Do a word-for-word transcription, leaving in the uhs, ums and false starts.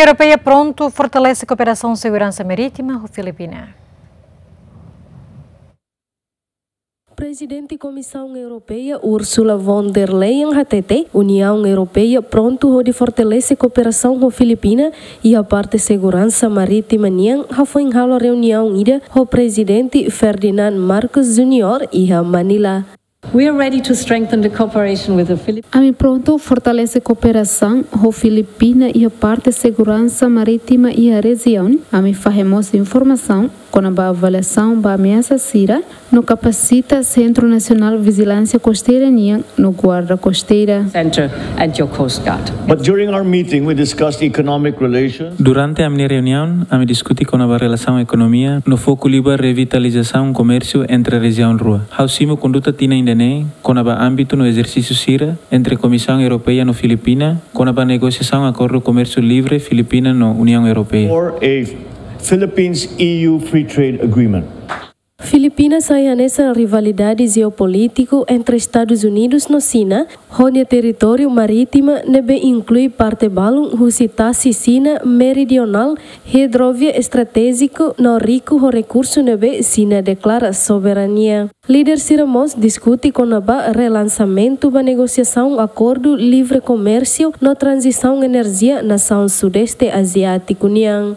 Europeia prontu fortalese kooperasaun seguransa marítima ho Filipina. Prezidente Komisaun Europeia Ursula von der Leyen hatete, Uniaun Europeia prontu hodi fortalese kooperasaun ho Filipina iha parte seguransa marítima nian, hafoin halo reuniaun ida ho Prezidente Ferdinand Marcos Junior iha Manila. We are ready to strengthen the cooperation with the Philippines. Ami prontu fortalese kooperasaun ho Filipina iha parte seguransa marítima iha rejiaun. Ami fahe mós informasaun kona-ba avaliasaun ba ameasa sira, no kapasita Sentru Nasionál Vijilánsia Kosteira nian no Guarda Kosteira. Center and your Coast Guard. But during our meeting, we discussed economic relations. Durante ami-nia reuniaun, ami diskuti kona-ba relasaun ekonomia, no foku liu ba revitalizasaun komérsiu entre rejiaun rua. Ha'u simu konduta tinan ida-ne'e kona-ba ámbitu no ezersísiu sira entre Komisaun Europeia no Filipina, kona-ba negosiasaun akordu komérsiu livre Filipina no Uniaun Europeia. Or a Philippines E U free trade agreement. Filipina sai hanesan rivalidade jeopolítiku entre Estadus Unidus no Xina, ho nia territóriu marítima ne'ebé inklui parte balun husi tasi Xina meridionál, hidrovia estratéjiku no riku ho rekursu ne'ebé Xina deklara soberania. Líder sira mós diskuti kona-ba relansamentu ba negosiasaun akordu livre komérsiu no tranzisaun enerjia nasaun Sudeste Aziátiku nian.